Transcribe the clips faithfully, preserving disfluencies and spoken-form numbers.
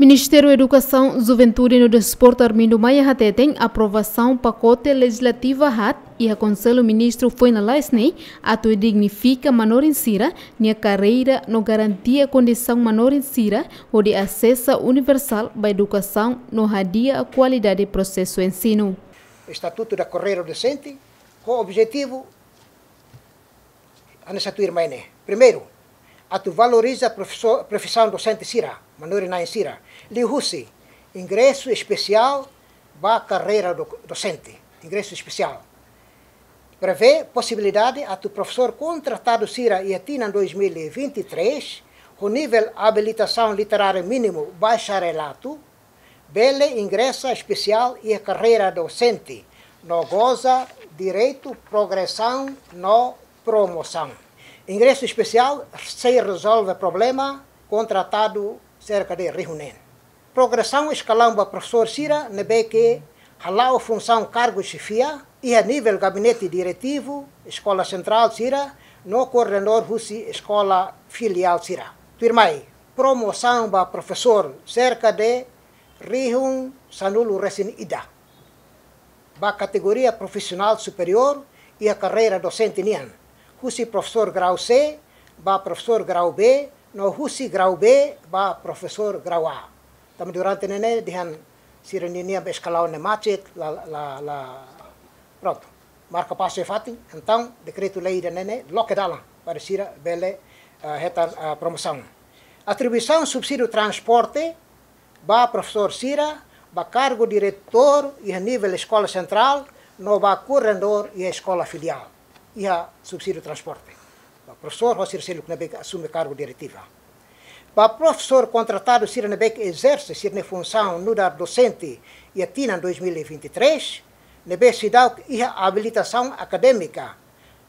Ministériu Edukasaun, Juventude no Desportu Armindo Maia hateten aprovasaun pakote lejizlativa haat iha Konsellu Ministru foin lalais ne'e atu dignifika manorin sira-nia karreira no garantia kondisaun manorin sira hodi asesu universál ba edukasaun no hadi'a kualidade prosesu ensinu. Estatuto da Carreira Docente, ho objetivu hanesan tuirmai ne'e. Primeiru, atu valoriza profesór, profisaun dosente sira, manorin-na'in sira, liuhusi ingresu espesiál ba karreira do-, dosente, ingresu espesiál. Prevee posibilidade atu profesór kontratadu sira iha tinan dois mil e vinte e três, ho nivel abilitasaun literária mínimu bacharelatu, bele ingresa espesiál iha karreira dosente, no goza direitu progresaun no promosaun. Ingresu espesiál sei rezolve problema kontratadu serka de rihun neen. Progresaun eskalaun ba profesór sira ne'ebé ke hala'o funsaun kargu xefia iha nivel gabinete diretivu, eskola sentrál sira, no koordenadór husi eskola filiál sira. Tuirmai, promosaun ba profesór serka de rihun sanulu-resin-ida ba kategoria profisionál superiór iha karreira dosente nian, husi profesór grau C ba profesór grau B, no husi grau B ba profesór grau A. Tanba durante ne'e ne'e dehan sira-ninia eskalaun ne'e macet, la, la, la, prontu. Marka pasu iha fatin, entaun dekretu-lei ida-ne'e ne'e loke dalan para sira bele, ah, hetan, ah, promosaun. Atribuisaun subsídiu transporte ba profesór sira, ba kargu diretór iha nivel eskola sentrál, no ba koordenadór iha eskola filiál, iha subsídiu transporte. Ba profesór ho sira seluk ne'ebé ke asume kargu diretiva. Ba profesór kontratadu sira ne'ebé ke ezerse sira-nia funsaun nu'udar dosente iha tinan dois mil e vinte e três, ne'ebé seidauk iha abilitasaun akadémika,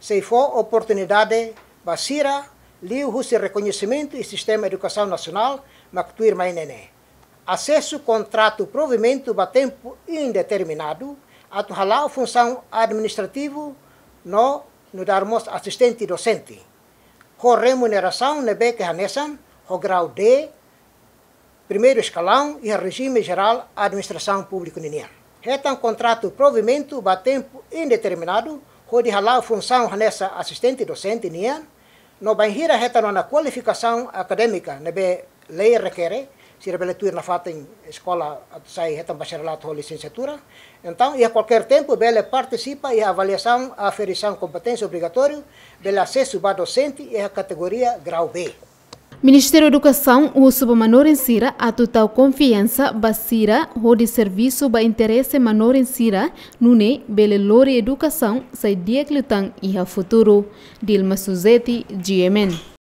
sei fó oportunidade ba sira liuhusi rekoñesimentu iha sistema edukasaun nasionál, mak tuirmai ne'e ne'e. Asesu kontratu provimentu ba tempu indeterminadu, atu hala'o funsaun administrativu no nu'udar mós asistente dosente, ho remunerasaun ne'ebé ke hanesan ho grau D, primeiru eskalaun iha rejime jerál administrasaun públiku ninian. Hetan kontratu provimentu ba tempu indeterminadu, hodi hala'o funsaun hanesan asistente dosente nian, no bainhira hetan ona kualifikasaun akadémika ne'ebé lei rekere, sira bele tuir nafatin eskola atu sai hetan bacharelatu ho lisensiatura. Entaun, iha kualkér tempu bele partisipa iha avaliasaun aferisaun kompeténsia obrigatóriu, bele asesu ba dosente iha kategoria grau B. Ministériu Edukasaun husu ba manorin sira atu tau konfiansa ba sira hodi servisu ba interese manorin sira, nune'e bele lori edukasaun sai di'ak liután iha futuru. Dilma Suzeti, G M N.